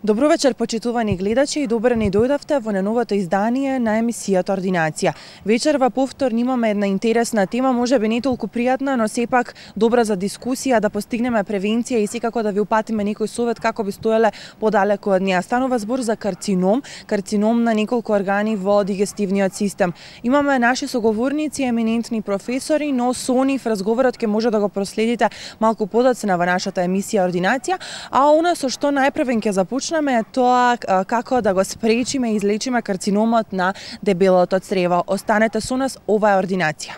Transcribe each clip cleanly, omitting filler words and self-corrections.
Добро вечер, почитувани гледачи, и добро ни дојдовте во најновото издание на емисијата Ординација. Вечерва повторно имаме една интересна тема, можеби не толку пријатна, но сепак добра за дискусија, да постигнеме превенција и секако да ви упатиме некој совет како би стоеле подалеку од неа. Станува збор за карцином на неколку органи во дигестивниот систем. Имаме наши соговорници, еминентни професори, но со нив разговорот ќе може да го проследите малку подоцна во нашата емисија Ординација, а она со што најпрвен ќе започнеме е тоа како да го спречиме и излечиме карциномот на дебелото црево. Останете со нас, ова е Ординација.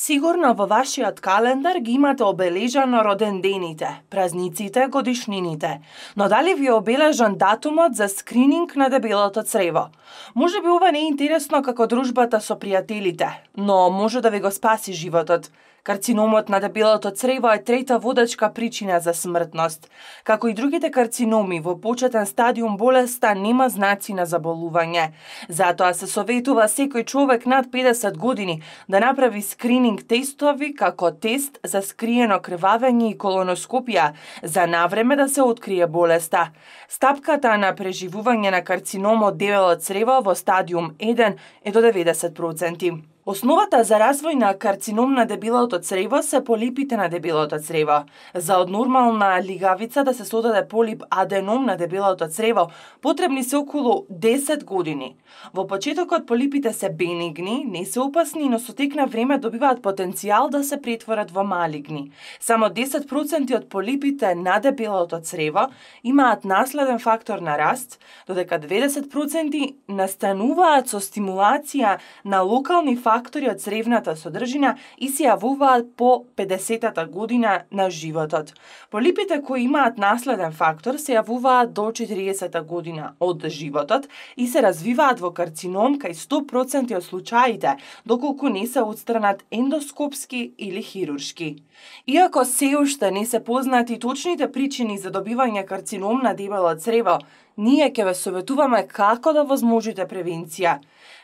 Сигурно во вашиот календар ги имате обележано родендените, празниците, годишнините. Но дали ви е обележан датумот за скрининг на дебелото црево? Може би ова не е интересно како дружбата со пријателите, но може да ви го спаси животот. Карциномот на дебелото црево е трета водачка причина за смртност. Како и другите карциноми, во почетен стадиум болеста нема знаци на заболување. Затоа се советува секој човек над 50 години да направи скрининг тестови како тест за скриено крвавење и колоноскопија, за навреме да се открие болеста. Стапката на преживување на карцином од дебело црево во стадиум 1 е до 90%. Основата за развој на карцином на дебелото црево се полипите на дебелото црево. За од нормална лигавица да се содаде полип аденом на дебелото црево, потребни се околу 10 години. Во почетокот полипите се бенигни, не се опасни, но со тек на време добиваат потенцијал да се претворат во малигни. Само 10% од полипите на дебелото црево имаат наследен фактор на раст, додека 90% настануваат со стимулација на локални фактори од цревната содржина и се јавуваат по 50-та година на животот. Полипите кои имаат наследен фактор се јавуваат до 40-та година од животот и се развиваат во карцином кај 100% од случаите, доколку не се отстранат ендоскопски или хируршки. Иако се уште не се познати точните причини за добивање карцином на дебело црево, ние ќе ве советуваме како да возможите превенција.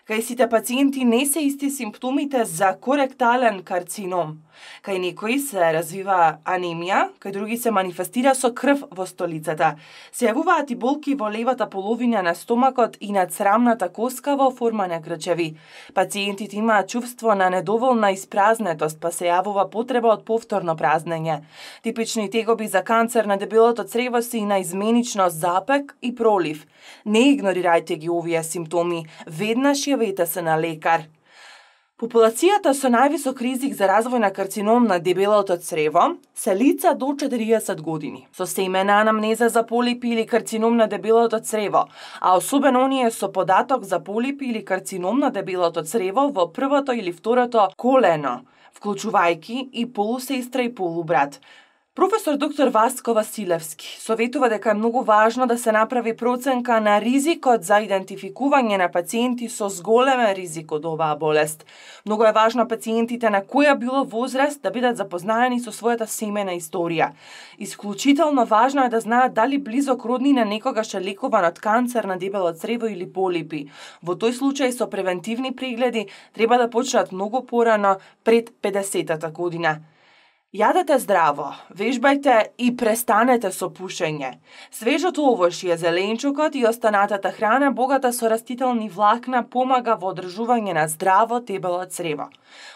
Кај сите пациенти не се исти симптомите за коректален карцином. Кај некои се развива анемија, кај други се манифестира со крв во столицата. Се јавуваат и болки во левата половина на стомакот и на црамната коска во форма на грчеви. Пациентите имаат чувство на недоволна испразнетост, па се јавува потреба од повторно празнење. Типични тегоби за канцер на дебелото црево се и наизменично запек и пролив. Не игнорирајте ги овие симптоми, веднаш јавете се на лекар. Популацијата со највисок ризик за развој на карцином на дебелото црево се лица до 40 години, со семена анамнеза за полипи или карцином на дебелото црево, а особено оние со податок за полипи или карцином на дебелото црево во првото или второто колено, вклучувајќи и полусестра и полубрат. Професор доктор Васко Василевски советува дека е многу важно да се направи проценка на ризикот за идентификување на пациенти со зголемен ризик од оваа болест. Многу е важно пациентите на која било возраст да бидат запознаени со својата семена историја. Исклучително важно е да знаат дали близок роднина некогаш е лекуван од канцер на дебело црево или полипи. Во тој случај со превентивни прегледи треба да почнат многу порано пред 50-та година. Јадете здраво, вежбајте и престанете со пушење. Свежото овошје, зеленчукот и останатата храна богата со растителни влакна помага во одржување на здраво дебело црево.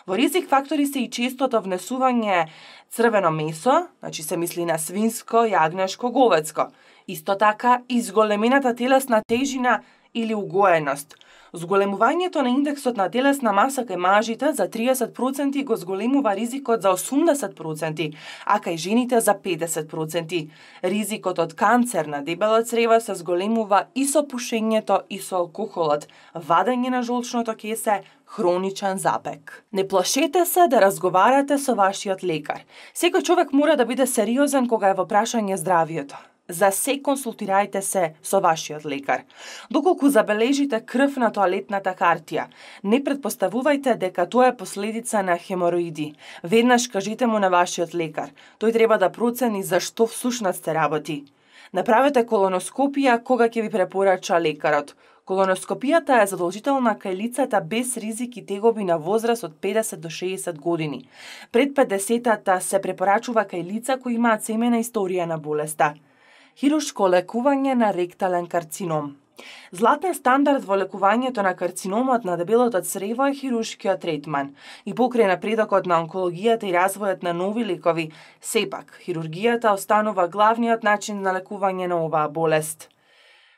Во ризик фактори се и честото внесување црвено месо, значи се мисли на свинско, јагнешко, говецко. Исто така и зголемената телесна тежина или угоеност. Зголемувањето на индексот на телесна маса кај мажите за 30% го зголемува ризикот за 80%, а кај жените за 50%. Ризикот од канцер на дебело црево се зголемува и со пушењето и со алкохолот, вадење на жолчното кесе, хроничен запек. Не плашете се да разговарате со вашиот лекар. Секој човек мора да биде сериозен кога е во прашање здравието. За се консултирајте се со вашиот лекар. Доколку забележите крв на тоалетната хартија, не претпоставувајте дека тоа е последица на хемороиди. Веднаш кажете му на вашиот лекар. Тој треба да процени за што всушност се работи. Направете колоноскопија кога ќе ви препорача лекарот. Колоноскопијата е задолжителна кај лицата без ризик и тегоби на возраст од 50 до 60 години. Пред 50-та се препорачува кај лица кои имаат семејна историја на болеста. Хируршко лекување на ректален карцином. Златен стандард во лекувањето на карциномот на дебелото црево е хируршкиот третман. И покрај напредокот на онкологијата и развојот на нови лекови, сепак, хирургијата останува главниот начин на лекување на оваа болест.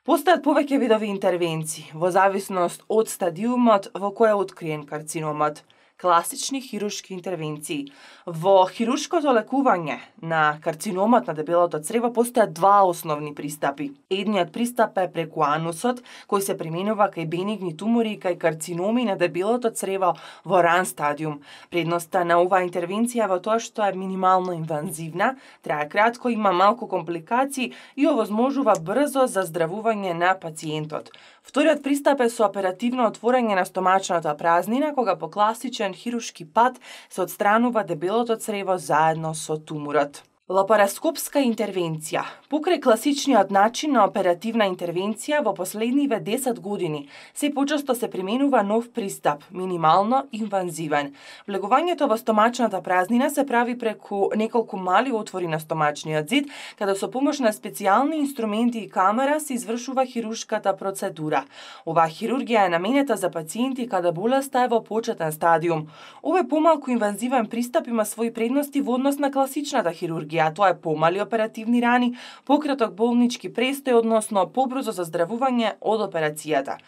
Постојат повеќе видови интервенции, во зависност од стадиумот во кој е откриен карциномот. Класични хируршки интервенции. Во хируршкото лекување на карциномот на дебелото црево постојат два основни пристапи. Едниот пристап е преку анусот, кој се применува кај бенигни тумори и кај карциноми на дебелото црево во ран стадиум. Предноста на оваа интервенција во тоа што е минимално инвазивна, трае кратко, има малку компликации и овозможува брзо заздравување на пациентот. Вториот пристап е со оперативно отворање на стомачната празнина, кога по класичен хируршки пат се отстранува дебелото црево заедно со туморот. Лапароскопска интервенција. Покрај класичниот начин на оперативна интервенција во последниве 10 години, се почесто се применува нов пристап, минимално инвазивен. Влегувањето во стомачната празнина се прави преку неколку мали отвори на стомачниот зид, каде со помош на специјални инструменти и камера се извршува хируршката процедура. Оваа хирургија е наменета за пациенти каде болеста е во почетен стадиум. Овој помалку инвазивен пристап има своји предности во однос на класичната хирургија. Тоа е помали оперативни рани, пократок болнички престој, односно побрзо заздравување од операцијата.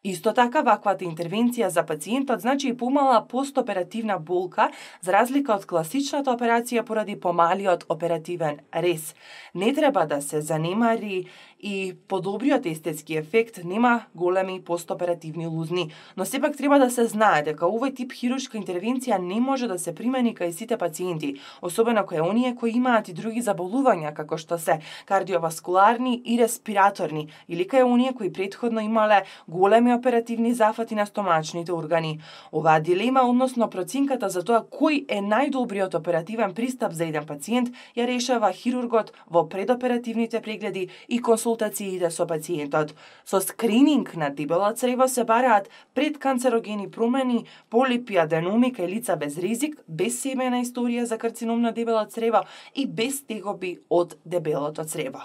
Исто така, ваквата интервенција за пациентот значи и помала постоперативна болка, за разлика од класичната операција поради помалиот оперативен рез. Не треба да се занемари и подобриот естетски ефект, нема големи постоперативни лузни, но сепак треба да се знае дека овој тип хируршка интервенција не може да се примени кај сите пациенти, особено кај оние кои имаат и други заболувања, како што се кардиоваскуларни и респираторни, или кај оние кои претходно имале големи оперативни зафати на стомачните органи. Оваа дилема, односно проценката за тоа кој е најдобриот оперативен пристап за еден пациент, ја решава хирургот во предоперативните прегледи и консултациите со пациентот. Со скрининг на дебело црево се бараат предканцерогени промени, полипи, аденоми кај лица без ризик, без семејна историја за карцином на дебело црево и без тегоби од дебелото црево.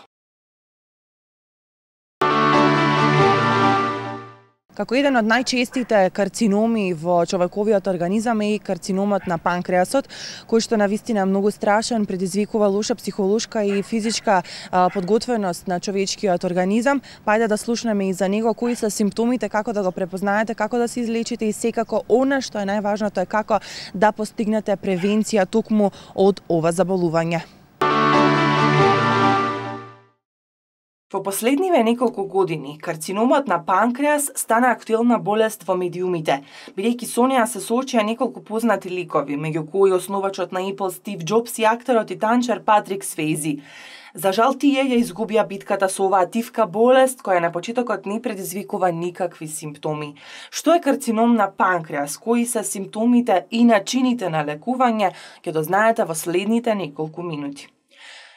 Како еден од најчестите карциноми во човековиот организам е и карциномот на панкреасот, кој што навистина е многу страшен, предизвикува лоша психолошка и физичка подготвеност на човечкиот организам. Пајде да слушнеме и за него, кои се симптомите, како да го препознаете, како да се излечите и секако она што е најважното е како да постигнете превенција токму од ова заболување. Во последниве неколку години, карциномот на панкреас стана актуелна болест во медиумите, бидејќи со неа се соочија неколку познати ликови, меѓу кои основачот на Apple Стив Џобс и актерот и танчар Патрик Свејзи. За жал тие ја изгубија битката со оваа тивка болест, која на почетокот не предизвикува никакви симптоми. Што е карцином на панкреас, кои се симптомите и начините на лекување, ќе дознаете во следните неколку минути.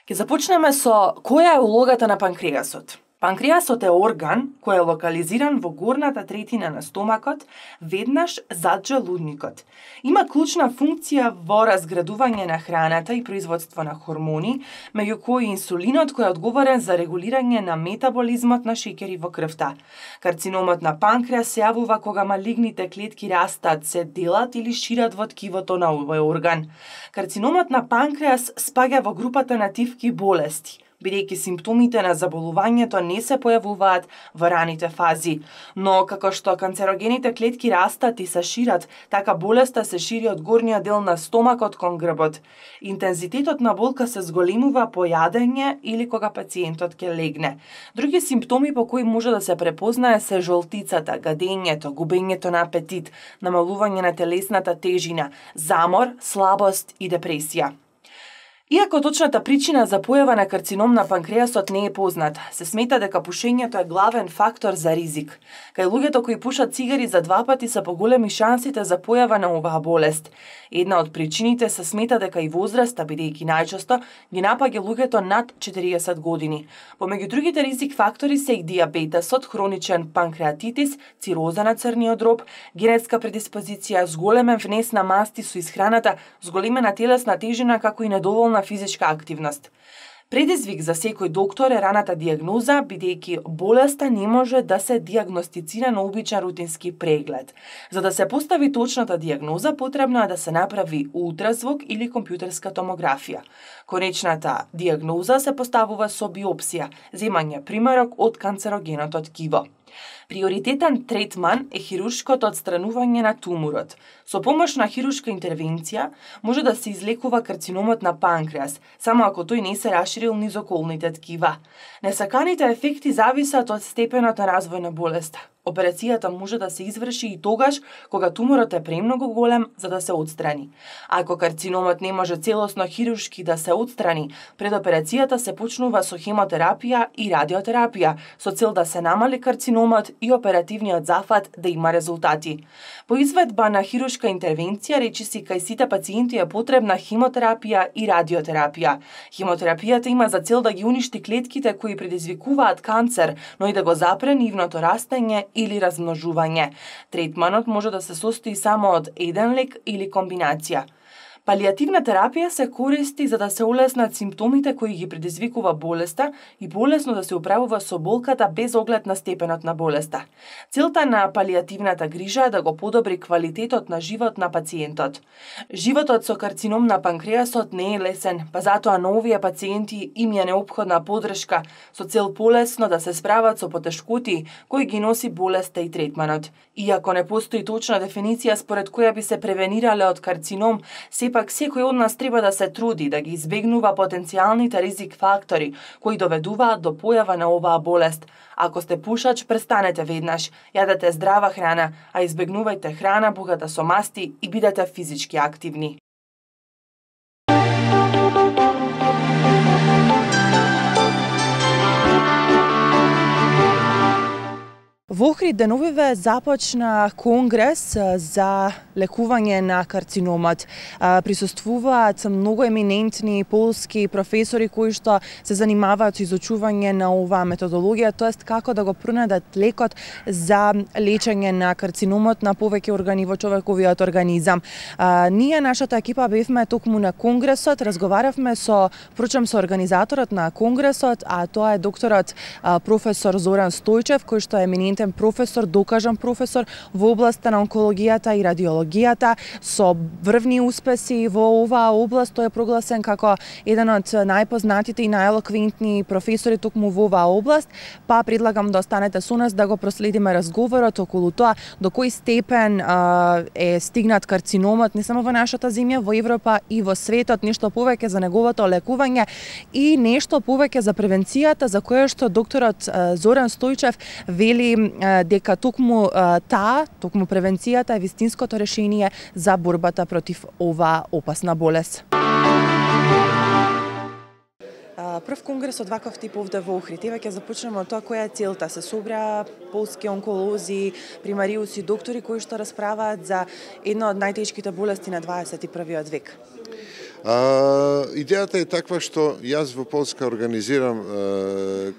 Ќе започнеме со која е улогата на панкреасот. Панкреасот е орган кој е локализиран во горната третина на стомакот, веднаш зад желудникот. Има клучна функција во разградување на храната и производство на хормони, меѓу кои инсулинот кој е одговорен за регулирање на метаболизмот на шеќери во крвта. Карциномот на панкреас се јавува кога малигните клетки растат, се делат или шират во ткивото на овој орган. Карциномот на панкреас спаѓа во групата на тивки болести. бидејќи симптомите на заболувањето не се појавуваат во раните фази. Но како што канцерогените клетки растат и се шират, така болеста се шири од горниот дел на стомакот кон грбот. Интензитетот на болка се зголемува по јадење или кога пациентот ќе легне. Други симптоми по кои може да се препознае се жолтицата, гадењето, губењето на апетит, намалување на телесната тежина, замор, слабост и депресија. Иако точната причина за појава на карцином на панкреасот не е познат, се смета дека пушењето е главен фактор за ризик. Кај луѓето кои пушат цигари за 2 пати се поголеми шансите за појава на оваа болест. Една од причините се смета дека и возраста, бидејќи најчесто ги напаѓа луѓето над 40 години. Помеѓу другите ризик фактори се и дијабетесот, хроничен панкреатитис, цироза на црниот дроб, генетска предиспозиција, зголемен внес на масти со исхраната, зголемена телесна тежина како и недоволна физичка активност. Предизвик за секој доктор е раната дијагноза, бидејќи болеста не може да се дијагностицира на обичен рутински преглед. За да се постави точната дијагноза, потребно е да се направи ултразвук или компјутерска томографија. Конечната дијагноза се поставува со биопсија, земање примерок од канцерогеното ткиво. Приоритетен третман е хируршкото отстранување на туморот. Со помош на хируршка интервенција може да се излекува карциномот на панкреас, само ако тој не се расширил низ околните ткива. Несаканите ефекти зависат од степенот на развој на болеста. Операцијата може да се изврши и тогаш кога туморот е премногу голем за да се отстрани. Ако карциномот не може целосно хируршки да се отстрани, пред операцијата се почнува со хемотерапија и радиотерапија со цел да се намали карциномот и оперативниот зафат да има резултати. По изведба на хируршка интервенција, речиси кај сите пациенти е потребна хемотерапија и радиотерапија. Хемотерапијата има за цел да ги уништи клетките кои предизвикуваат канцер, но и да го запре нивното растење или размножување. Третманот може да се состои само од еден лек или комбинација. Палијативна терапија се користи за да се улеснат симптомите кои ги предизвикува болеста и полесно да се управува со болката без оглед на степенот на болеста. Целта на палијативната грижа е да го подобри квалитетот на живот на пациентот. Животот со карцином на панкреасот не е лесен, па затоа на овие пациенти им е неопходна поддршка со цел полесно да се справат со потешкоти кои ги носи болеста и третманот. Иако не постои точна дефиниција според која би се превенирале од карцином, сепак секој од нас треба да се труди да ги избегнува потенцијалните ризик фактори кои доведуваат до појава на оваа болест. Ако сте пушач, престанете веднаш, јадете здрава храна, а избегнувајте храна богата со масти и бидете физички активни. Во Охрид деновиве започна конгрес за лекување на карциномот. Присуствуваат многу еминентни полски професори кои што се занимаваат со изучување на оваа методологија, тоест како да го пронадат лекот за лечење на карциномот на повеќе органи во човековиот организам. Ние, нашата екипа, бевме токму на конгресот, разговаравме со организаторот на конгресот, а тоа е докторот професор Зоран Стојчев, кој што е еминентен професор, докажан професор во областа на онкологијата и радиологијата, со врвни успеси во оваа област. Тој е прогласен како еден од најпознатите и најелоквентни професори токму во оваа област, па предлагам да останете со нас да го проследиме разговорот околу тоа до кој степен е стигнат карциномот не само во нашата земја, во Европа и во светот, нешто повеќе за неговото лекување и нешто повеќе за превенцијата, за која што докторот Зоран Стојчев вели дека токму превенцијата е вистинското решение за борбата против оваа опасна болест. Прв конгрес од ваков тип овде во Охрид. Еве ќе започнеме од тоа која е целта. Се собра полски онколози, примариуси, доктори кои што расправаат за една од најтешките болести на 21. век. Идејата е таква што јас во Полска организирам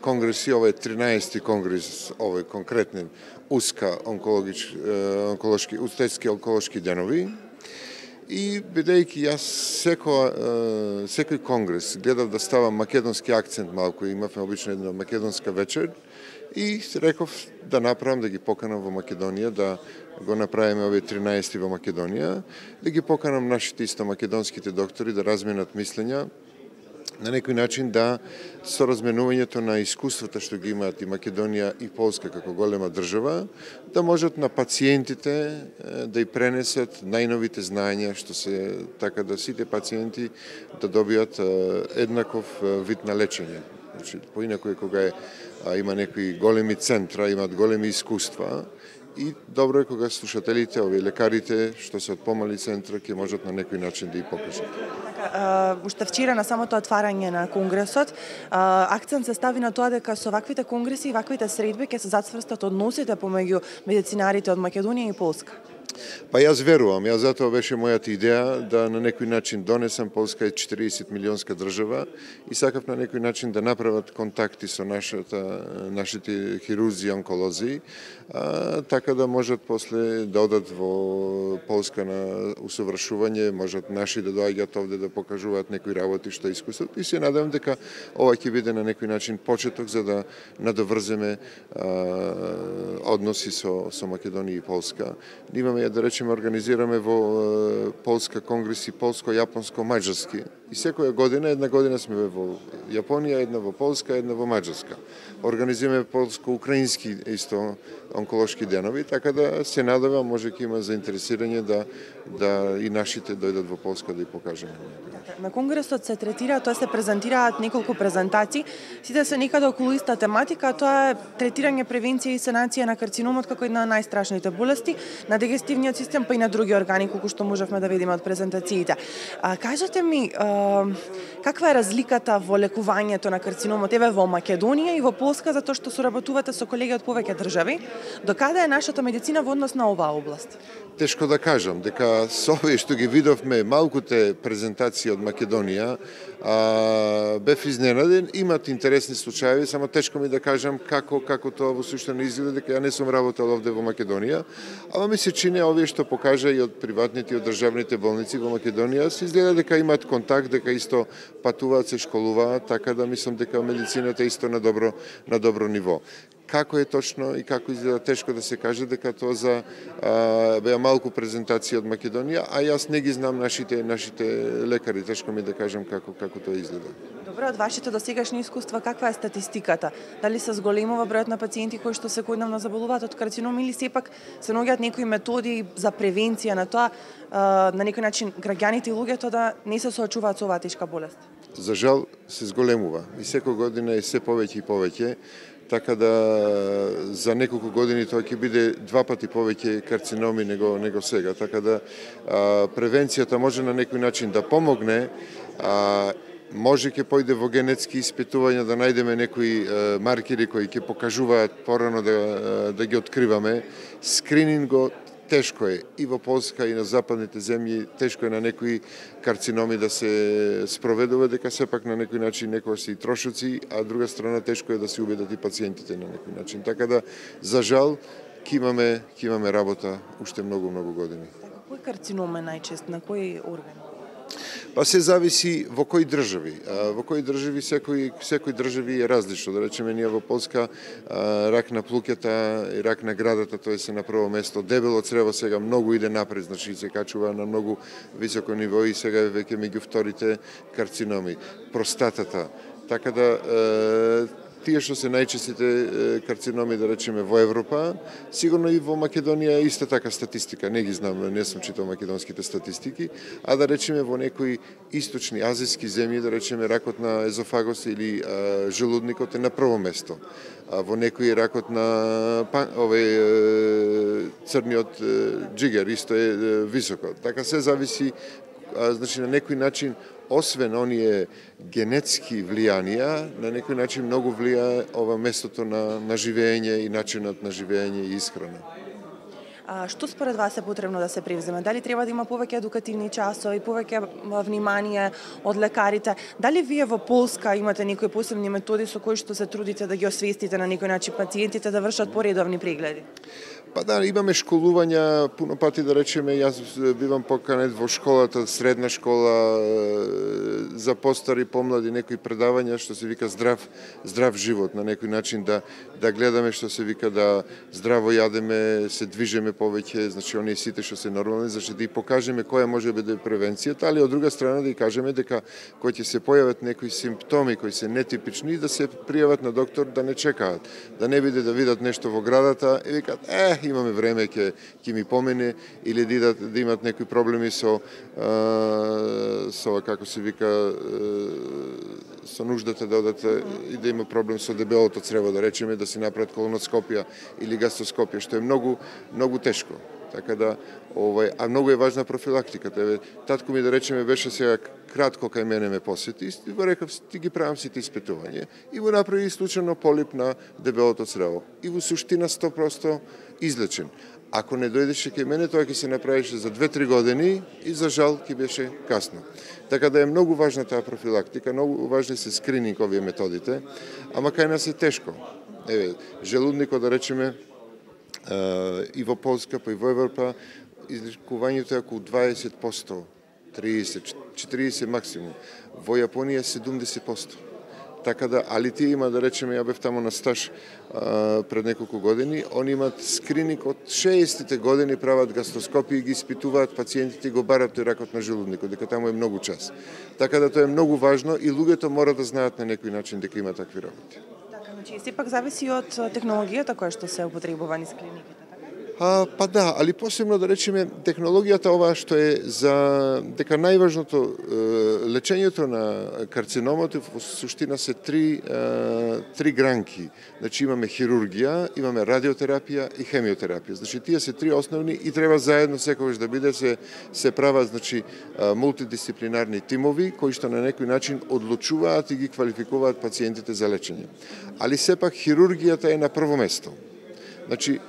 конгреси, ова е 13-ти конгрес, ова е конкретен уска устечки онколошки денови. И бидејќи јас секој конгрес гледав да ставам македонски акцент малку, имавме обично една македонска вечер и реков да направам, да ги поканам во Македонија, да го направиме овие 13 во Македонија, да ги поканам нашите исто македонските доктори да разменат мислења на некој начин да со разменувањето на искуствата што ги имаат и Македонија и Полска како голема држава, да можат на пациентите да и пренесат најновите знаења, што се така да сите пациенти да добијат еднаков вид на лечење. Значи, поинаку е кога има некои големи центра, имаат големи искуства, и добро е кога слушателите, овие лекарите, што се од помали центра, ќе можат на некој начин да и покажат. Уште вчера на самото отварање на конгресот, акцент се стави на тоа дека со ваквите конгреси и ваквите средби ќе се зацврстат односите помеѓу медицинарите од Македонија и Полска. Па јас верувам, затоа беше мојата идеја да на некој начин донесам. Полска е 40 милионска држава и сакав на некој начин да направат контакти со нашите хирурзи и онколози, така да можат после да одат во Полска на усовршување, можат наши да доаѓаат овде да покажуваат некои работи што искусат, и се надевам дека ова ќе биде на некој начин почеток за да надоврземе односи со Македонија и Полска. Имаме, да речеме, организираме во Полска конгреси полско-јапонско-маđarски. И секоја година, една година сме во Јапонија, една во Полска, една во Маđarска. Организираме полско-украински исто онколошки денови, така да се надевам може ќе има заинтересирање да и нашите дојдат во Полска да и покажеме. На конгресот се третира, тоа се презентираат неколку презентации, сите се некаде околу иста тематика, тоа е третирање, превенција и санација на карциномот како една од најстрашните болести на дигестивниот систем, па и на други органи, колку што можевме да видиме од презентациите. Кажете ми, каква е разликата во лекувањето на карциномот еве во Македонија и во Полска, затоа што соработувате со колеги од повеќе држави? Докаде е нашата медицина во однос на оваа област? Тешко да кажам, дека со овие што ги видовме малкуте презентации од Македонија, бев изненаден, имат интересни случаи, само тешко ми да кажам како тоа во суштина изгледа, дека ја не сум работел овде во Македонија, ама ми се чини овие што покажа и од приватните и од државните болници во Македонија, се изгледа дека имаат контакт, дека исто патуваат, се школуваат, така да мислам дека медицината е исто на добро ниво. Како е точно и како изгледа, тешко да се каже, дека тоа за беа малку презентации од Македонија, а јас не ги знам нашите лекари, тешко ми да кажам како тоа изгледа. Добро, од вашите досегашни искуства, каква е статистиката? Дали се зголемува бројот на пациенти кои што секојдневно заболуваат од карцином или сепак се наоѓаат некои методи за превенција на тоа, на некој начин граѓаните и луѓето да не се соочуваат со оваа тешка болест? За жал се зголемува и секоја година е се повеќе и повеќе. Така да за неколку години тоа ќе биде 2 пати повеќе карциноми него сега. Така да превенцијата може на некој начин да помогне, може ќе појде во генетски испитувања да најдеме некои маркери кои ќе покажуваат порано да ги откриваме. Скрининго тешко е и во Полска и на западните земји, тешко е на некои карциноми да се спроведува, дека сепак на некој начин некои се и трошоци, а друга страна тешко е да се убедат и пациентите на некој начин. Така да, за жал, ќе имаме работа уште многу години. Кој карцином е најчест, на кој орган? Па се зависи во кои држави. Во кои држави секој држави е различно. Да речеме ние во Полска рак на плуќата и рак на градата, тоа се на прво место. Дебело црево сега многу иде напред, значи се качува на многу високо ниво и сега е веќе меѓу вторите карциноми. Простатата. Така да тие што се најчестите карциноми, да речеме, во Европа, сигурно и во Македонија иста така статистика, не ги знам, не сум читал македонските статистики, а да речеме во некои источни азиски земји, да речеме ракот на езофагос или желудникот е на прво место. А во некои ракот на црниот џигер исто е високо. Така се зависи, значи на некој начин, освен оние генетски влијанија, на некој начин многу влија ова местото на живење и начинот на живење и исхрана. Што според вас е потребно да се превземе? Дали треба да има повеќе едукативни часови, повеќе внимание од лекарите? Дали вие во Полска имате некои посебни методи со кои што се трудите да ги освестите на некој начин пациентите да вршат поредовни прегледи? Па да, имаме школувања, пуно пати да речеме, јас бивам поканет во школата, средна школа, за постари, помлади, некои предавања што се вика здрав живот, на некој начин да гледаме што се вика да здраво јадеме, се движеме повеќе, значи оние сите што се нормални, значи да и покажеме која може да биде превенцијата, али од друга страна да и кажеме дека кои ќе се појават некои симптоми кои се нетипични, да се пријават на доктор, да не чекаат, да не биде да видат нешто во градата и викаат имаме време, ќе ми помине, или да имат некои проблеми со како се вика со нуждата да одат и да има проблем со дебелото црево, да речеме, да се направат колоноскопија или гастроскопија, што е многу тешко. Така да а многу е важна профилактиката. Татко ми, да речеме, беше сега кратко кај мене ме посети и го рекав, ти ги правам сите испитување и го направи случајно полип на дебелото црево. И во суштина 100% излечен. Ако не дојдеше кај мене, тоа ќе се направише за 2-3 години и за жал ќе беше касно. Така да е многу важна таа профилактика, многу важни се скрининг овие методите, ама кај нас е тешко. Желудникот, да речеме, и во Полска, па и во Европа, излекувањето е околу 20%, 30, 40 максимум. Во Јапонија 70%. Така да, али тие има, да речеме, ја бев тамо на стаж пред неколку години, они имат скрининг од 60-тите години, прават гастроскопии, ги испитуваат пациентите и го барат тој ракот на желудникот, дека таму е многу час. Така да тоа е многу важно и луѓето мора да знаат на некој начин дека има такви работи. Така, значи сепак зависи од технологијата која што се употребува низ клиниките. Па да, али посебно да речеме технологијата ова што е за дека најважното лечењето на карциномот во суштина се три гранки. Значи имаме хирургија, имаме радиотерапија и хемиотерапија. Значи тие се три основни и треба заедно секогаш да биде се прават значи мултидисциплинарни тимови кои што на некој начин одлучуваат и ги квалификуваат пациентите за лечење. Али сепак хирургијата е на прво место. Значи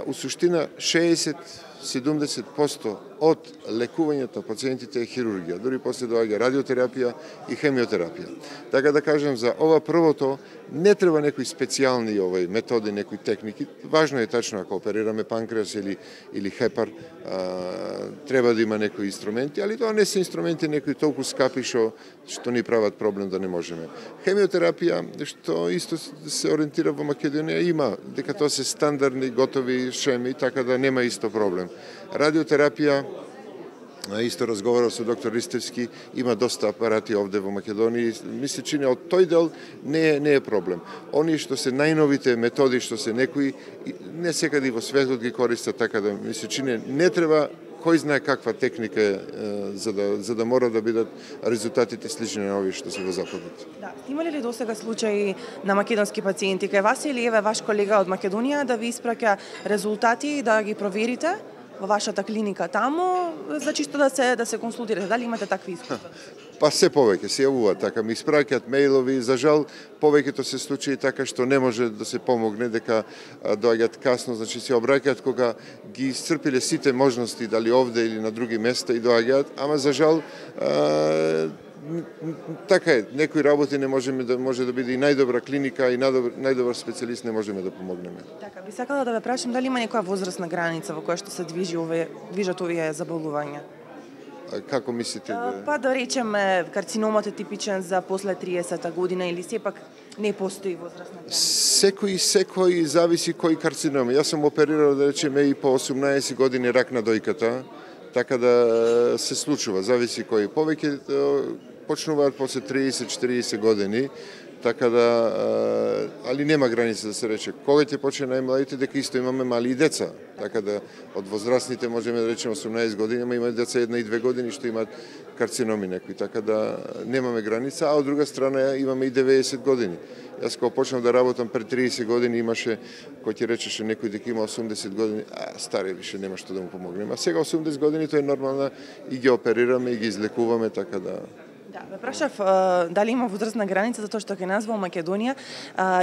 у суштина 60-70% од лекувањето пациентите е хирургија, дури после доаѓа радиотерапија и хемиотерапија. Така да кажем, за ова првото не треба некои специјални методи, некои техники. Важно е тачно ако оперираме панкреас или хепар, треба да има некои инструменти, али тоа не се инструменти некои толку скапи што ни прават проблем да не можеме. Хемиотерапија, што исто се ориентира во Македонија, има, дека тоа се стандардни, готови шеми, така да нема исто проблем. Радиотерапија, исто разговарав со доктор Ристевски, има доста апарати овде во Македонија, ми се чини од тој дел не е проблем. Они што се најновите методи, што се некои, не секаде во светот ги користат, така да ми се чини не треба кој знае каква техника за да мора да бидат резултатите слични на овие што се во Западот. Да, имале ли досега случаи на македонски пациенти кај вас или еве ваш колега од Македонија да ви испраќа резултати и да ги проверите во вашата клиника таму, за чисто да се консултирате? Дали имате такви искуства? Па се повеќе се јавуваат така, ми испраќаат мејлови, за жал повеќето се случаи така што не може да се помогне, дека доаѓаат касно, значи се обраќаат кога ги исцрпиле сите можности, дали овде или на други места и доаѓаат, ама за жал така е, некои работи не може да биде и најдобра клиника и најдобар специјалист не можеме да помогнеме. Така, би сакала да ве прашам дали има некоја возрастна граница во која што се движат овие заболувања? Како мислите? Па да речеме, карциномот е типичен за после 30-та година или сепак не постои возрастна граница? Секој зависи кој карцином. Јас сум оперирал, да речеме, и по 18 години рак на дојката, така да се случува, зависи кој. Повеќе почнуваат после 30-40 години, така да, али нема граница да се рече. Кога ќе почне најмладите, дека исто имаме мали и деца. Така да, од возрастните можеме да речеме 18 години, ама има деца 1 и 2 години што имаат карциноми некои. Така да, немаме граница, а од друга страна имаме и 90 години. Јас кога почнав да работам пред 30 години имаше, кој ти речеше некој дека има 80 години, стари више нема што да му помогнем. А сега 80 години тоа е нормално и ги оперираме и ги излекуваме, така да. Да, ве прашав дали има возрастна граница, затоа што кај нас во Македонија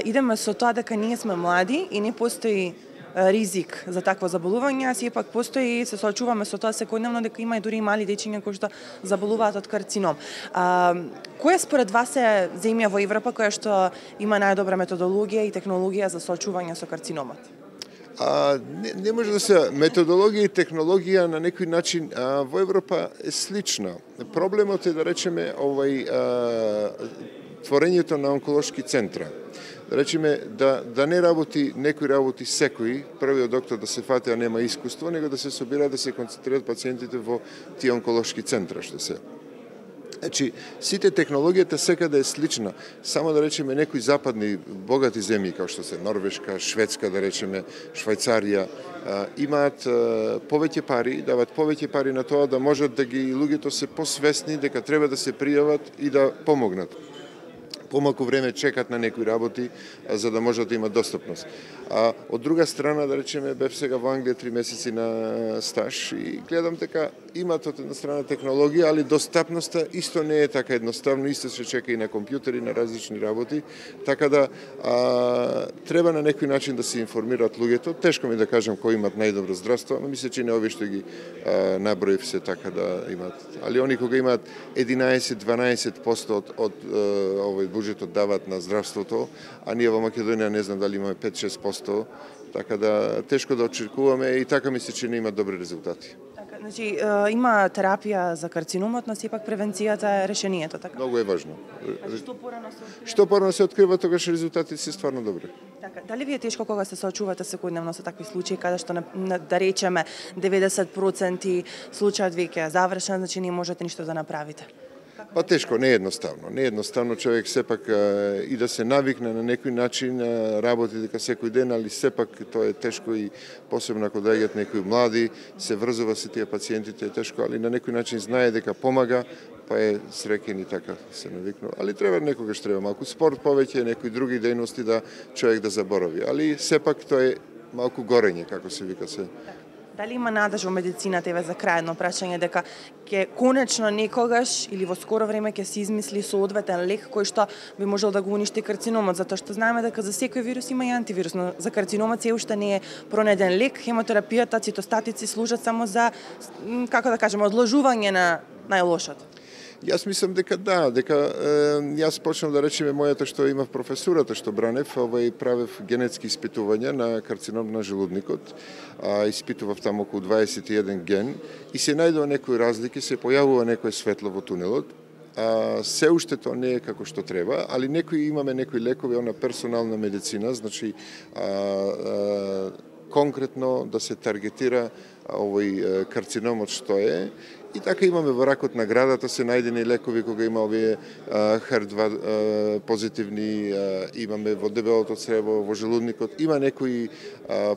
идеме со тоа дека ние сме млади и не постои ризик за такво заболување, а сепак постои, се соочуваме со тоа секојдневно дека има и дури мали дечиња кои што заболуваат од карцином. Која според вас е земја во Европа која што има најдобра методологија и технологија за соочување со карциномот? Не може да се методологија и технологија на некој начин во Европа е слична. Проблемот е да речеме творењето на онколошки центра. Да речеме да не работи некој работи секој, првиот доктор да се фати, а нема искуство, него да се собира да се концентрираат пациентите во тие онколошки центра што се. Значи, сите технологијата секаде е слична, само да речеме некои западни богати земји, како што се Норвешка, Шведска, да речеме, Швајцарија, имаат повеќе пари, дават повеќе пари на тоа да можат да ги луѓето се посвесни дека треба да се пријават и да помогнат. Помалку време чекат на некои работи за да можат да имат достапност. Од друга страна, да речеме, бев сега во Англија 3 месеци на стаж и гледам дека имат од една страна технологија, али достапноста исто не е така едноставно, исто се чека и на компјутери, на различни работи, така да треба на некој начин да се информираат луѓето. Тешко ми да кажам кои имат најдобро здравство, но мисля че не овие што ги наброив се така да имат. Али они кога имаат 11-12% од овој буџетот дават на здравството, а ние во Македонија не знам дали имаме 5-6%, така да тешко да очекуваме и така мисля че не има добри резултати. Така, значи има терапија за карциномот, но сепак превенцијата е решението, така? Многу е важно. Што порано се открива? Што порано се открива, тогаш резултатите се стварно добри. Така, дали ви е тешко кога се соочувате секојдневно со такви случаи каде што да речеме 90% случајот веќе е завршен, значи не можете ништо да направите? Па тешко, не е едноставно. Не е едноставно човек сепак и да се навикне на некој начин работи дека секој ден, али сепак тоа е тешко и посебно ако доаѓаат некои млади, се врзува се тие пациентите е тешко, али на некој начин знае дека помага, па е среќен и така се навикнува. Али треба некогаш треба малку спорт повеќе, некои други дејности да човек да заборави, али сепак тоа е малку горење, како се вика се. Дали има надеж во медицината, еве за крај едно прашање, дека ќе конечно некогаш или во скоро време ќе се измисли соодветен лек кој што би можел да го уништи карциномот, затоа што знаеме дека за секој вирус има и антивирус, но за карциномот се уште не е пронајден лек. Хемотерапијата, цитостатици служат само за, како да кажеме, одложување на најлошото. Јас мислам дека да, дека јас почнав да речеме мојата што имав професурата што бранев, правев генетски испитувања на карцином на желудникот, испитував таму околу 21 ген и се најдува некои разлики, се појавува некој светло во тунелот. Се уште тоа не е како што треба, али имаме некои лекови, она персонална медицина, значи конкретно да се таргетира овој карциномот што е. И така имаме во ракот на градата се најдени лекови кога има овие HER2 позитивни, имаме во дебелото црево, во желудникот, има некои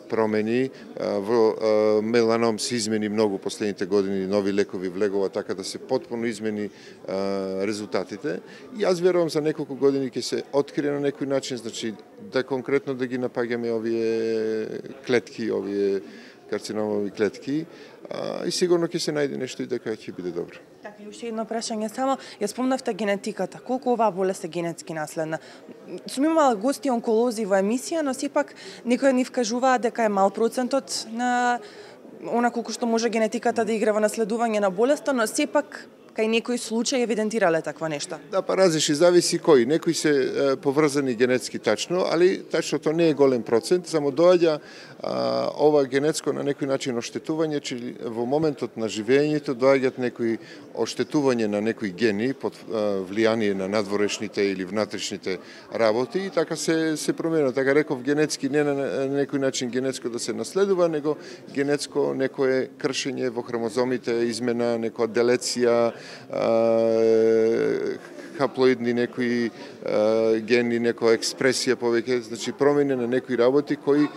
промени, во меланом се измени многу последните години, нови лекови влегува така да се потпуно измени резултатите. И јас верувам за неколку години ќе се открие на некој начин, значи да конкретно да ги напаѓаме овие клетки, овие карциномови клетки, и сигурно ќе се најде нешто и дека ќе биде добро. Така, и уште едно прашање само, ја спомнавте генетиката, колку оваа болест е генетски наследна? Сум имала гости онколози во емисија, но сепак некои ни вкажуваат дека е мал процентот на она колку што може генетиката да игра во наследување на болеста, но сепак кај некои случаи евидентирале таква нешто? Да, па различни, зависи кои. Некои се поврзани генетски тачно, али тачното не е голем процент, само доаѓа ова генетско на некој начин оштетување, че во моментот на живењето доаѓаат некои оштетување на некои гени под влијание на надворешните или внатрешните работи и така се промена. Така реков генетски не на некој начин генетско да се наследува, него генетско некое кршење во хромозомите, измена, некоја делеција, хаплоидни некои гени, некоја експресија повеќе, значи промени на некои работи кои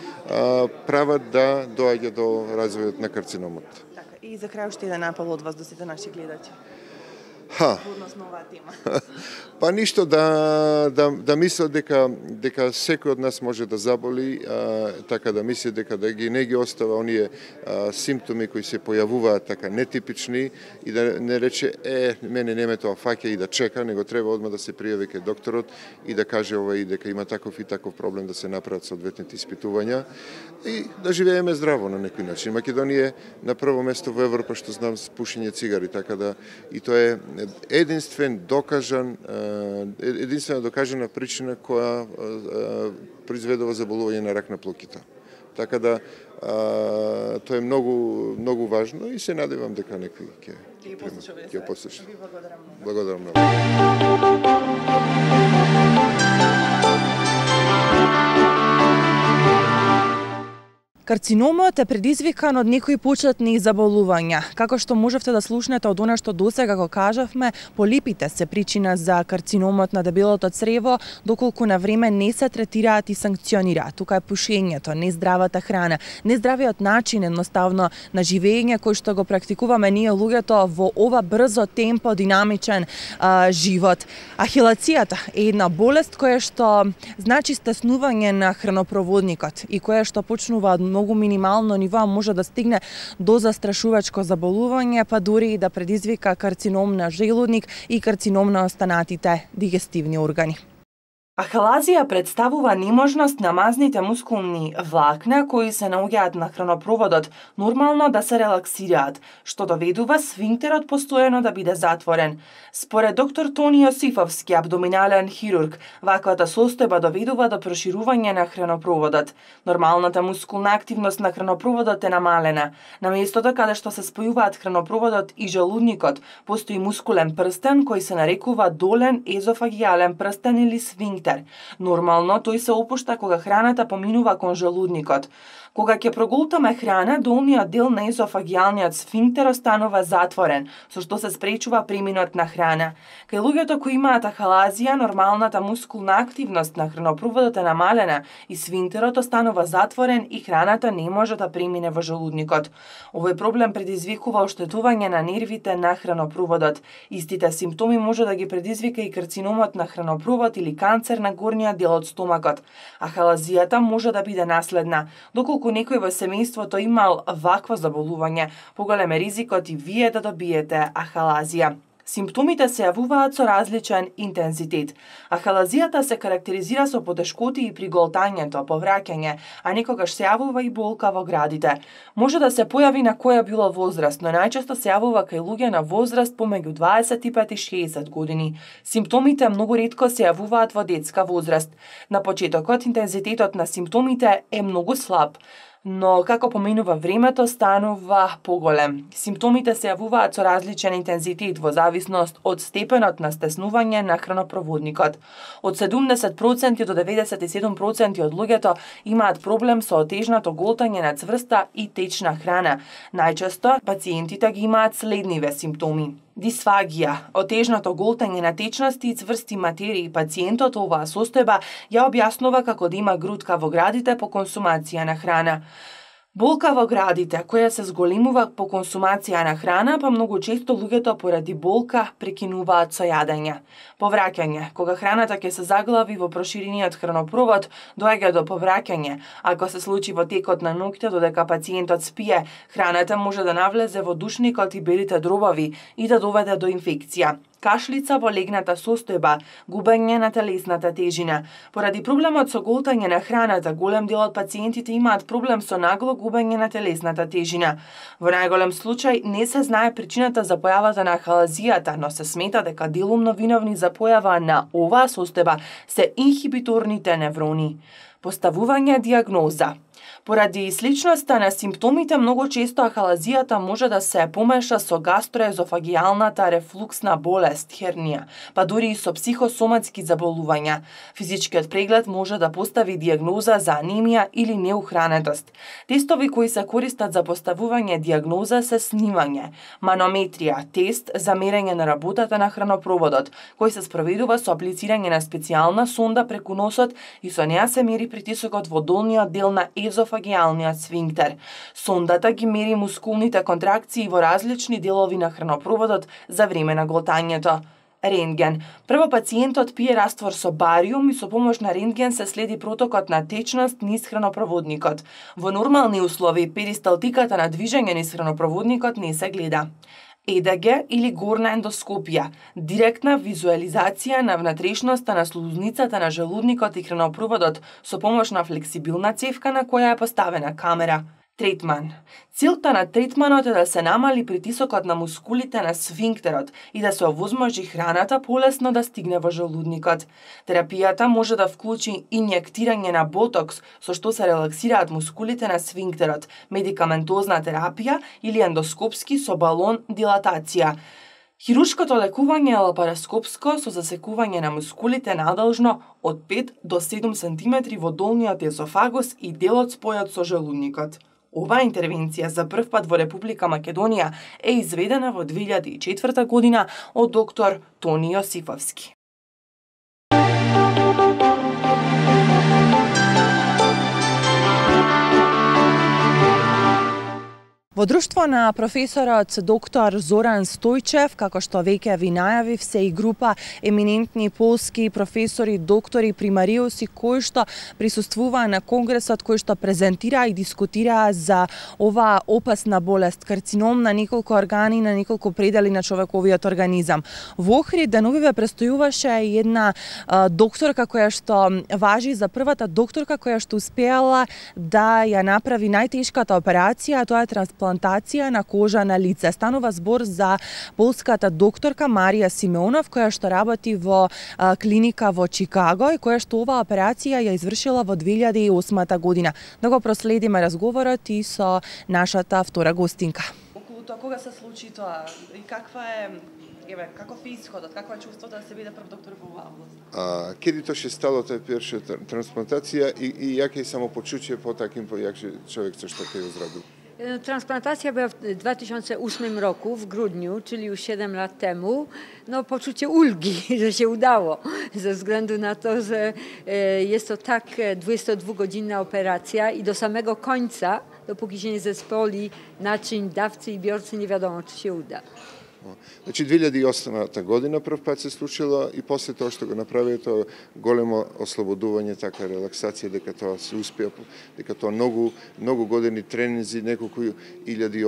прават да доаѓа до развојот на карциномот. Така, и за крај уште еден апел од вас до сите наши гледачи. Односно оваа тема. Па ништо да мислат дека секој од нас може да заболи, така да мисли дека не ги остава оние симптоми кои се појавуваат така нетипични и да не рече мене не ме тоа фаќа и да чека, него треба одма да се пријави кај докторот и да каже и дека има таков и таков проблем, да се направат соодветните испитувања и да живееме здраво на некој начин. Македонија е на прво место во Европа што знам с пушење цигари, така да и тоа е единствена докажана причина која произведува заболување на рак на плоките. Така да тоа е многу важно и се надевам дека некои ќе послушаме. Благодарам многу. Карциномот е предизвикан од некои почетни заболувања. Како што можевте да слушнете од она што досега го кажавме, полипите се причина за карциномот на дебелото црево, доколку на време не се третираат и санкционираат. Тука е пушењето, нездравата храна, нездравиот начин едноставно на живење кој што го практикуваме ние луѓето во ова брзо темпо, динамичен живот. Ахилацијата е една болест која што значи стеснување на хранопроводникот и која што почнува од многу минимално ниво, може да стигне до застрашувачко заболување, па дури и да предизвика карцином на желудник и карцином на останатите дигестивни органи. Ахалазија представува неможност на мазните мускулни влакна кои се наоѓаат на хранопроводот нормално да се релаксираат, што доведува сфинктерот постојано да биде затворен. Според доктор Тони Јосифовски, абдоминален хирург, ваквата состојба доведува до проширување на хранопроводот. Нормалната мускулна активност на хранопроводот е намалена. На местото каде што се спојуваат хранопроводот и желудникот, постои мускулен прстен кој се нарекува долен езофагијален прстен или сфинктер. Нормално тој се опушта кога храната поминува кон желудникот. Кога ќе проголтаме храна, долниот дел на езофагијалниот сфинктер останува затворен, со што се спречува преминот на храна. Кај луѓето кои имаат ахалазија, нормалната мускулна активност на хранопроводот е намалена и сфинктерот останува затворен и храната не може да премине во желудникот. Овој проблем предизвикува оштетување на нервите на хранопроводот. Истите симптоми може да ги предизвика и карциномот на хранопровод или канцер на горниот дел од стомакот. Ахалазијата може да биде наследна, доколку некој во семејството имал вакво заболување, поголем е ризикот и вие да добиете ахалазија. Симптомите се јавуваат со различен интензитет. Ахалазијата се карактеризира со потешкоти и при голтањето, повраќање, а некогаш се јавува и болка во градите. Може да се појави на која било возраст, но најчесто се јавува кај луѓе на возраст помеѓу 25 и 60 години. Симптомите многу ретко се јавуваат во детска возраст. На почетокот интензитетот на симптомите е многу слаб, но како поминува времето станува поголем. Симптомите се јавуваат со различен интензитет во зависност од степенот на стеснување на хранопроводникот. Од 70% до 97% од луѓето имаат проблем со отежнато голтање на цврста и течна храна. Најчесто пациентите ги имаат следниве симптоми: дисфагија, отежното голтање на течности и цврсти материи. Пациентот оваа состојба ја објаснува како да има грудка во градите по консумација на храна. Болка во градите, која се зголемува по консумација на храна, па многу често луѓето поради болка прекинуваат со јадење. Повраќање, кога храната ќе се заглави во проширениот хранопровод, доаѓа до повраќање. Ако се случи во текот на ноќта додека пациентот спие, храната може да навлезе во душникот и белите дробови и да доведе до инфекција. Кашлица во легната состојба, губење на телесната тежина. Поради проблемот со голтање на храната, голем дел од пациентите имаат проблем со нагло губење на телесната тежина. Во најголем случај не се знае причината за појавата на ахалазијата, но се смета дека делумно виновни за појава на оваа состојба се инхибиторните неврони. Поставување диагноза. Поради сличноста на симптомите, многу често ахалазијата може да се помеша со гастроезофагијалната рефлуксна болест, хернија, па дури и со психосоматски заболувања. Физичкиот преглед може да постави диагноза за анемија или неухранетост. Тестови кои се користат за поставување диагноза се снимање, манометрија, тест за мерење на работата на хранопроводот, кој се спроведува со аплицирање на специјална сонда преку носот и со неа се мери притисокот во долниот дел на езофагијалниот сфинктер. Сондата ги мери мускулните контракции во различни делови на хранопроводот за време на голтањето. Рентген. Прво пациентот пие раствор со бариум и со помош на рентген се следи протокот на течност низ хранопроводникот. Во нормални услови перисталтиката на движење низ хранопроводникот не се гледа. ЕДГ или горна ендоскопија, директна визуализација на внатрешноста на слузницата на желудникот и хранопроводот со помош на флексибилна цевка на која е поставена камера. Третман. Целта на третманот е да се намали притисокот на мускулите на сфинктерот и да се овозможи храната полесно да стигне во желудникот. Терапијата може да вклучи инјектирање на ботокс, со што се релаксираат мускулите на сфинктерот, медикаментозна терапија или ендоскопски со балон дилатација. Хируршкото лекување е лапароскопско со засекување на мускулите надолжно од 5 до 7 см во долниот есофагус и делот спојот со желудникот. Оваа интервенција за прв пат во Република Македонија е изведена во 2004 година од доктор Тони Јосифовски. Во друштво на професорот доктор Зоран Стојчев, како што веќе ви најавив, се и група еминентни полски професори, доктори, примариуси кои што присуствуваа на конгресот, кои што презентираа и дискутираа за оваа опасна болест, карцином на неколку органи, на неколку предели на човековиот организам. Во Охрид деновиве престојуваше една докторка која што важи за првата докторка која што успеала да ја направи најтешката операција, а тоа е трансплантација на кожа на лице. Станува збор за полската докторка Марија Симеонов, која што работи во клиника во Чикаго и која што оваа операција ја извршила во 2008 година. Да го проследиме разговорот и со нашата втора гостинка. Околу тоа кога се случи тоа и каква е каков е исходот, каква е чувството да се биде прв доктор во оваа област? Кеди тоа ше стало таа перша трансплантација и јаке самопочуće по таким човек што ќе изради? Transplantacja była w 2008 roku, w grudniu, czyli już 7 lat temu. No, poczucie ulgi, że się udało, ze względu na to, że jest to tak 22-godzinna operacja i do samego końca, dopóki się nie zespoli naczyń dawcy i biorcy, nie wiadomo, czy się uda. Значи 2008 година прв пат се случило и после тоа што го направи тоа големо ослободување, така релаксација, дека тоа се успеа, дека тоа многу години тренинзи, неколку илјади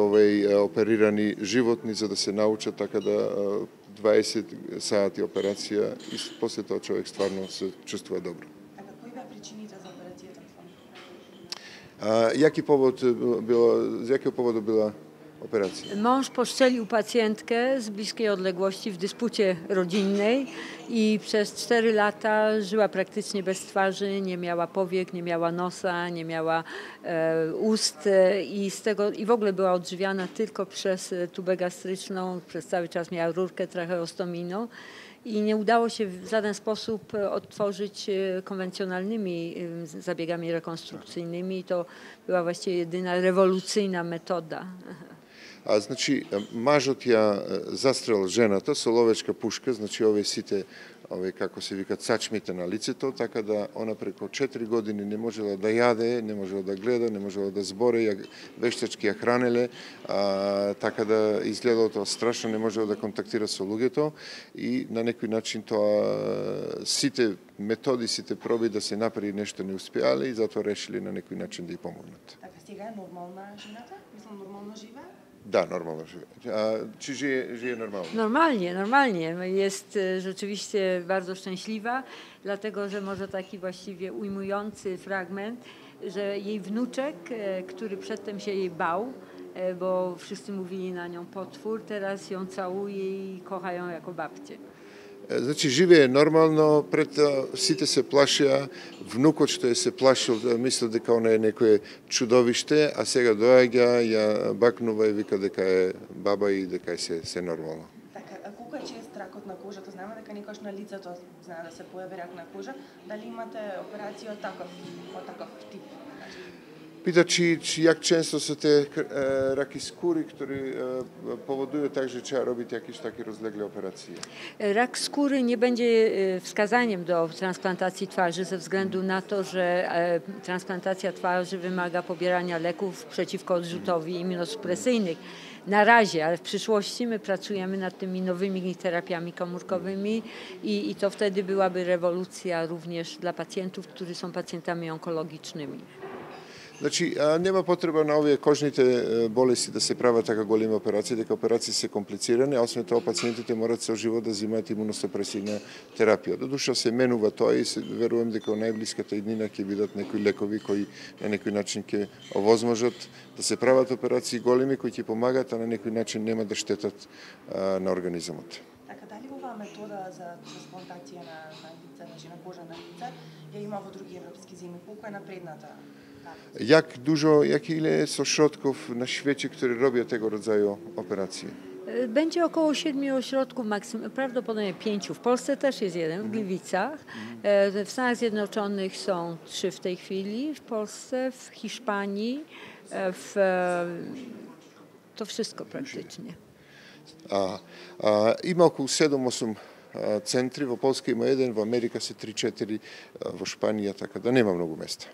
оперирани животни за да се научат, така да 20 сати операција и после тоа човек стварно се чувствува добро. А кои беа причините за операцијата? Јаки повод била operacji. Mąż postrzelił pacjentkę z bliskiej odległości w dyspucie rodzinnej i przez 4 lata żyła praktycznie bez twarzy, nie miała powiek, nie miała nosa, nie miała ust i w ogóle była odżywiana tylko przez tubę gastryczną, przez cały czas miała rurkę tracheostomijną. I nie udało się w żaden sposób odtworzyć konwencjonalnymi zabiegami rekonstrukcyjnymi. To była właściwie jedyna rewolucyjna metoda. Значи, мажот ја застрел жената со ловечка пушка, значи овие сите, како се викат, сачмите на лицето, така да она преку 4 години не можела да јаде, не можела да гледа, не можела да збори, вештачки ја хранеле, така да изгледало тоа страшно, не можела да контактира со луѓето и на некој начин тоа сите методи, сите проби да се направи нешто не успеале и затоа решили на некој начин да ја помогнат. Така сега е нормална жената? Мислам, нормално живее? Da, normalno żyje. Czy żyje normalnie? Normalnie. Jest rzeczywiście bardzo szczęśliwa, dlatego że może taki właściwie ujmujący fragment, że jej wnuczek, który przedtem się jej bał, bo wszyscy mówili na nią potwór, teraz ją całuje i kocha ją jako babcię. Значи, живее нормално, пред сите се плашеа, внукот што се плашил, мислел дека она е некое чудовиште, а сега доаѓа, ја бакнува и вика дека е баба и дека е се нормално. Така, а колку е чест ракот на кожата? Знаме дека некојаш на лицето знае да се појави рак на кожа. Дали имате операција од таков тип? Пита jak często są te raki skóry, które powodują także, że trzeba robić jakieś takie rozlegle operacje? Rak skóry nie będzie wskazaniem do transplantacji twarzy ze względu na to, że transplantacja twarzy wymaga pobierania leków przeciwko odrzutowi immunosupresyjnych. Na razie, ale w przyszłości my pracujemy nad tymi nowymi terapiami komórkowymi i to wtedy byłaby rewolucja również dla pacjentów, którzy są pacjentami onkologicznymi. Значи, нема потреба на овие кожните болести да се прават така големи операции, дека операции се комплицирани, а освен тоа пациентите морат со живот да земаат имуносупресивна терапија. Додуша се менува тоа и се верувам дека во најблиската иднина ќе бидат некои лекови кои на некој начин ќе овозможат да се прават операции големи кои ќе помагаат, а на некој начин нема да штетат на организмот. Така, дали оваа метода за трансплантација на лице, значи на кожа на лице, ја има во други европски земји? Колку е напредната? Jak ile są środków na świecie, które robią tego rodzaju operacje? Będzie około 7 ośrodków, prawdopodobnie 5. W Polsce też jest jeden, w Gliwicach. W Stanach Zjednoczonych są 3 w tej chwili, w Polsce, w Hiszpanii, to wszystko praktycznie. Ima około 7-8 centri, w Polsce ima jeden, w Ameryce se 3-4, w Szpaniji, tako da nema mnogo mesta.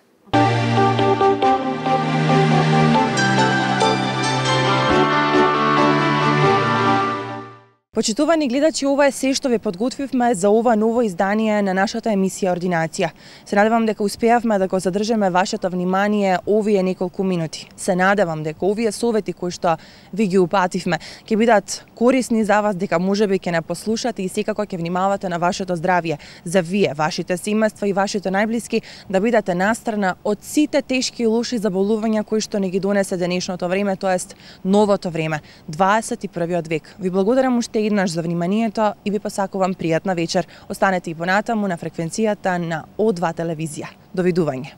Почитувани гледачи, ова е се што ве подготвивме за ова ново издание на нашата емисија Ординација. Се надевам дека успеавме да го задржиме вашето внимание овие неколку минути. Се надевам дека овие совети кои што ви ги упативме ќе бидат корисни за вас, дека можеби ќе не послушате и секако ќе внимавате на вашето здравје, за вие, вашите семејства и вашите најблиски да бидете настрана од сите тешки и лоши заболувања кои што не ги донесе денешното време, тоест новото време, 21 век. Ви благодарам уште еднаш за вниманието и ви посакувам пријатна вечер. Останете и понатаму на фреквенцијата на О2 телевизија. Довидување.